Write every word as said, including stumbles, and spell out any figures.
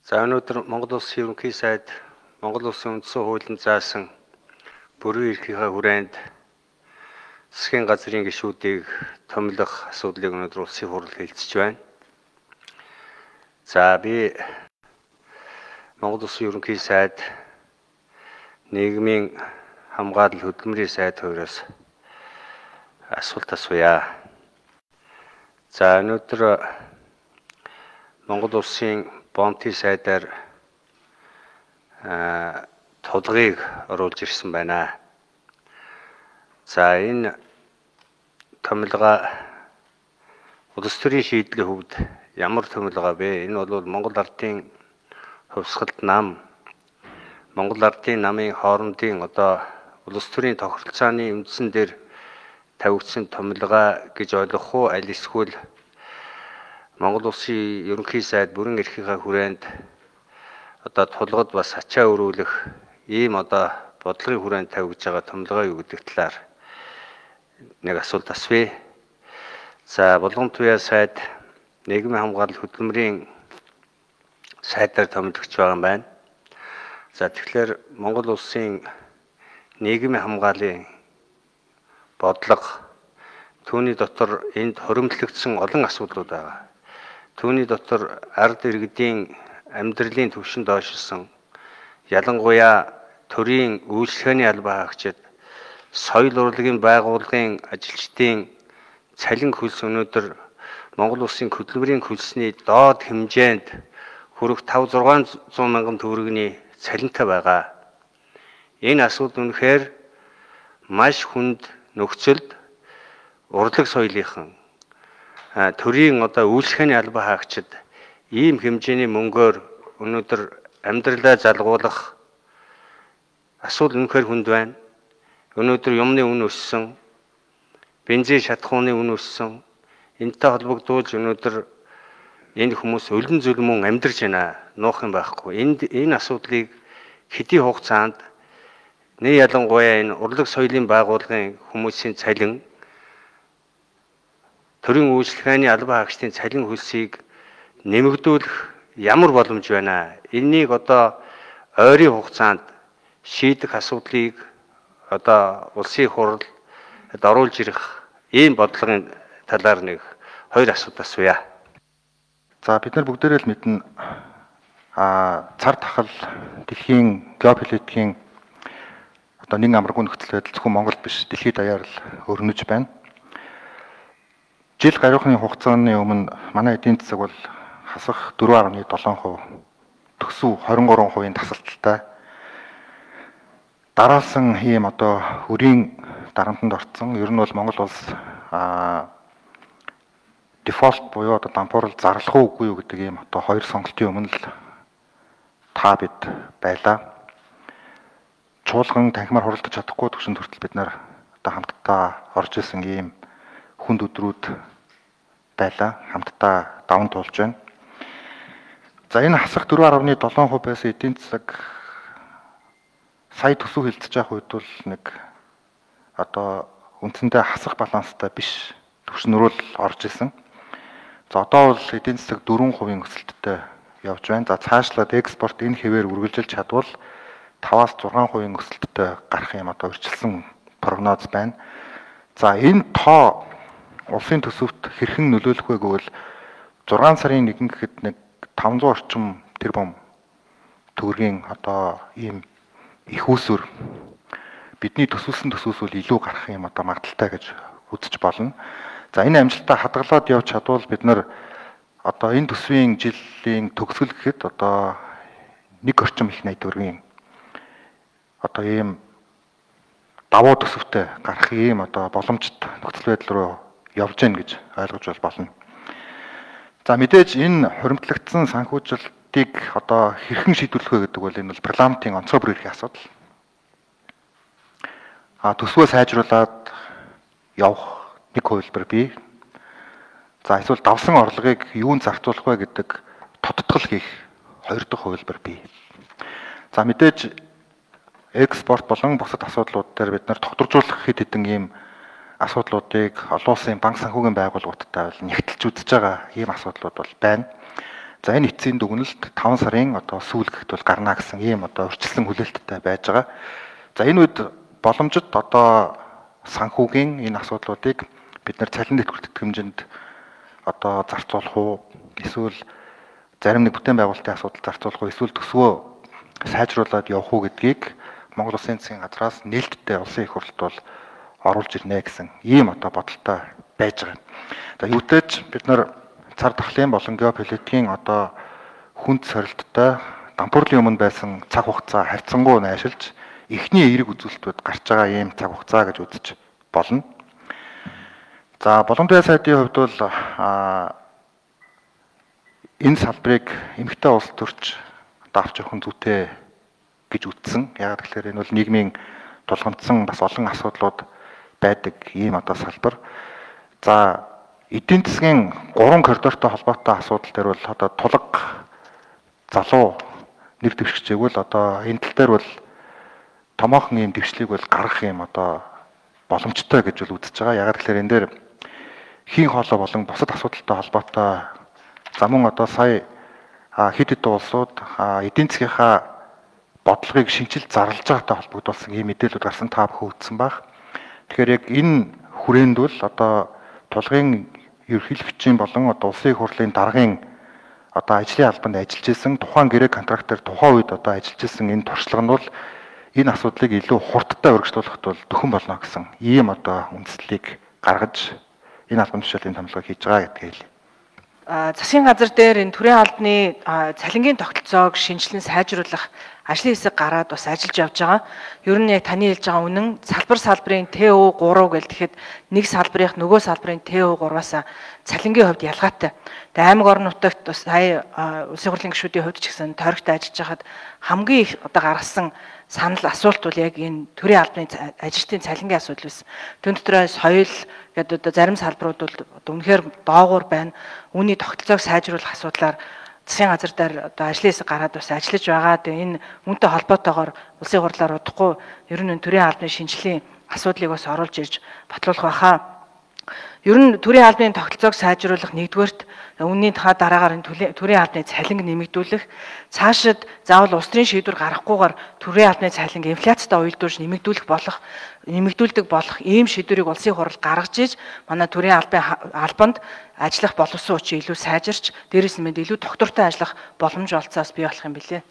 За өнөөдөр Монгол Улсын ерөнхий сайд Монгол Улсын үндсэн хуулинд заасан бүрэн эрхийнхээ хүрээнд засгийн газрын гишүүдийг томилох асуудлыг өнөөдөр улсын хурал хэлцэж байна. За би Монгол Улсын ерөнхий сайд нийгмийн хамгаалал хөдөлмөрийн сайд хоёроос асуулт асууя. За өнөөдөр Монгол Улсын Бонти сайдаар тулгыг оруулж ирсэн байна. За энэ томилго улс төрийн шийдлийн хувьд ямар томилго вэ? Энэ бол Монгол Ардын хувьсгалт нам, Монгол Ардын намын хоорондын одоо улс төрийн тохиролцооны үндсэн дээр тавигдсан томилго гэж ойлгох уу? Аль эсвэл Монгол Улсын ерөнхий сайд бүрэн эрхийнхээ хүрээнд одоо тулгад бас ачаа өрүүлэх ийм одоо бодлогын хүрээнд тавигдж байгаа томилгоо юу гэдэг талаар нэг асуулт асууя. За Булган туяа сайд нийгмийн хамгаалал хөдөлмөрийн сайдаар томилогч байгаа юм байна. За тэгэхээр Монгол Улсын нийгмийн хамгааллын бодлого түүний дотор энд хоримтлагдсан олон асуудлууд байгаа. Түүний дотор ард иргэдийн амьдралын түвшин доошилсон, ялангуяа төрийн үйлчлэгээний албаа хаагчид, соёл урлагийн байгууллагын ажилчдын цалин хөлс өнөөдөр Монгол Улсын хөдөлмөрийн хөлсний доод хэмжээнд хүрэх таван зургаан мянган төгрөгийн цалинтай байгаа. Энэ асуудал үнэхээр маш хүнд нөхцөлд урлаг соёлынхан төрийн одоо үйлчлэгээний албаа хаагчид ийм хэмжээний мөнгөөр өнөөдөр амьдралаа залгуулах асуудал үнэхээр хүнд байна. Өнөөдөр юмны үн өссөн, бензин шатахууны үн өссөн. Энэтэй холбогдуулж өнөөдөр энэ хүмүүс өлөн зүлмөн амьдарч байна. Нуух юм байхгүй. Энд энэ асуудлыг хэдийн хугацаанд нэ ялангуяа энэ урлаг соёлын байгууллагын хүмүүсийн цалин, төрийн үйлчлэгээний албаа хаагчдын цалин хөлсийг нэмэгдүүлэх ямар боломж байна? Энийг одоо ойрын хугацаанд шийдэх асуудлыг одоо улсын хурал оруулж ирэх ийм бодлогын талаар нэг хоёр асуулт асууя. За бид нар бүгдээрээ л мэднэ а цар тахал дэлхийн геополитикийн одоо нэг амаргүй нөхцөл байдал зөвхөн Монголд биш дэлхийд даяар л өрнөж байна. Жил гаруйхны хугацааны өмнө манай эдийн засаг бол хасах дөрвөн гаруй долоон хувь төсөв двадцать три хувийн тасалдaltaй дараалсан ийм одоо өрийн дарамтанд орцсон. Ер нь бол Монгол улс а дефолт буюу одоо дампуурал зарлах уугүй юу гэдэг ийм одоо хоёр сонголтын өмнө л та бид байлаа. Чуулган танхимаар хуралдаж чадахгүй төвшөнд хүртэл бид нар одоо хамтдаа орж исэн ийм хүнд өдрүүд байлаа. Хамтдаа даван туулж байна. За энэ хасах дөрвөн гаруй долоон хувь байсан эдийн засаг сая төсөв хилцэж явах үед бол нэг одоо үндсэндээ хасах баланстай биш төвшнөрөө л орж исэн. За одоо бол эдийн засаг дөрвөн хувийн өсөлттэй явж байна. За цаашлаад экспорт энэ хэвээр үргэлжилж чадвал таваас зургаан хувийн өсөлттэй гарах юм одоо өрчилсөн прогноз байна. За энэ тоо улсын төсөвт хэрхэн нөлөөлөх вэ гэвэл зургаан сарын нэгэн гэхэд нэг таван зуун орчим тэрбум төгрөгийн одоо ийм их үүсвэр бидний төсвөлсөн төсвөөс бол илүү гарах юм одоо магадaltaй гэж үзэж болно. За энэ амжилтаа хадгалаад явж чадвал бид нар одоо энэ төсвийн жилийн төгсгөл гэхэд одоо нэг орчим их найд төгрөгийн одоо ийм давуу төсөвтэй гарах ийм одоо боломжит нөхцөл байдал руу явж гэн гэж ойлгож болно. За мэдээж энэ хуримтлагдсан санхүүжилтийг одоо хэрхэн шийдвэрлэх вэ гэдэг бол энэ бол парламентын онцгой бүр эрхийн асуудал. А төсвөө сайжруулад явах нэг хувилбар бий. За эсвэл давсан орлогыг юунд зарцуулах вэ гэдэг тодтгол хийх хоёр дахь хувилбар бий. За мэдээж экспорт болон бусад асуудлууд дээр бид нар тогтворжуулах хэд хэдэн ийм асуудлуудыг олон улсын банк санхүүгийн байгууллагуудтай бол нягтлж үзэж байгаа ийм асуудлууд бол байна. За энэ эцсийн дүгнэлт таван сарын одоо сүүлгэхэд бол гарна гэсэн ийм одоо урьдчилсан хүлээлттэй байж байгаа. За энэ үед боломжит одоо санхүүгийн энэ асуудлуудыг бид нар цалин дэвтгэр тэтгэмжинд одоо зарцуулах уу, эсвэл зарим нэг бүтээн байгуулалтын асуудал зарцуулах уу, эсвэл төсвөө сайжруулад явах уу гэдгийг Монгол Улсын засгийн газраас нээлттэй улсын их хурлд бол оруулж ирнэ гэсэн ийм одоо бодолтой байж байгаа. За юутэйч бид нар цар тахлын болон геополитикийн одоо хүнд сорилттой дампуурлын өмнө байсан цаг хугацаа харьцангуй найшилж эхний эерэг үзүүлэлтүүд гарч байгаа ийм цаг хугацаа гэж үзэж болно. За боломжтой сайдын хувьд бол энэ салбарыг эмэгтэй улс төрч давж явах нь зүйтэй гэж үзсэн. Яг тэгэхээр энэ бол нийгмийн тулгамдсан бас олон асуудлууд байдаг ийм одоо салбар. За эдийн засгийн гурван коридортой холбоотой асуудал дээр бол одоо тулга залуу нэр дэвшигчээг бол одоо энэ тал дээр бол томоохон ийм дэвшлиг бол гаргах юм одоо боломжтой гэж бол үзэж байгаа. Яг тэгэхээр энэ дээр хийн хоолой болон бусад асуудалтай холбоотой за мөн одоо сая хэд хэдэн улсууд эдийн засгийнхаа бодлогыг шинжилж зарлж байгаатай холбогдуулсан ийм мэдээлэлүүд гарсан та бүхэн үзсэн баг. Тэгэхээр яг энэ хүрээнд бол одоо тулгын ерөнхийлөгчийн болон одоо улсын их хурлын даргын одоо ажлын албанд ажиллаж исэн тухайн гэрээ контрактор тухайн үед одоо ажиллаж исэн энэ туршлага нь бол энэ асуудлыг илүү хурдтай урагшлуулахад бол төхөн болно гэсэн ийм одоо үндслийг гаргаж энэ албан тушаалын томилгоо хийж байгаа гэдгийг хэлье. Засгийн газар дээр энэ төрийн албаны цалингийн тогтолцоог шинжилэн сайжруулах ажлын хэсэг гараад бас ажиллаж явж байгаа. Ер нь яг таны хэлж байгаа үнэн салбар салбарын Т О гурав гэл тэгэхэд нэг салбарынх нөгөө салбарын Т О гурваас цалингийн хувьд ялгаатай. Тэгээ аймаг орон нутагт бас сая улсын хурлын гишүүдийн хувьд ч гэсэн тойрогт ажиллаж хахад хамгийн их одоо гаргасан санал асуулт бол яг энэ төрийн албаны ажилтны цалингийн асуудал байсан. Тэн дотроо соёл гэдэг одоо зарим салбарууд бол үнэхээр доогуур байна. Үүний тогтолцоог сайжруулах асуудлаар засгийн газар дээр одоо ажлын хэсэг гараад бас ажиллаж байгаа. Тэгээ энэ үүнтэй холбоотойгоор улсын хурлаар удахгүй ер нь төрийн албаны шинжилгээний асуудлыг бас оруулж ирж батлуулах байхаа. Ер нь төрийн албаны тогтолцоог сайжруулах нэгдүгээрт үнийн та дараагаар энэ төрийн албаны цалинг нэмэгдүүлэх, цаашид заавал улс төрийн шийдвэр гаргахгүйгээр төрийн албаны цалинг инфляцтай уялдуулж нэмэгдүүлэх болох нэмэгдүүлдэг болох ийм шийдвэрийг улсын хурал гаргаж иж манай төрийн албаны албанд ажиллах боловсон хүчин илүү сайжирч, дээрээс нь илүү доктортой ажиллах боломж олцоос бий болох юм билээ.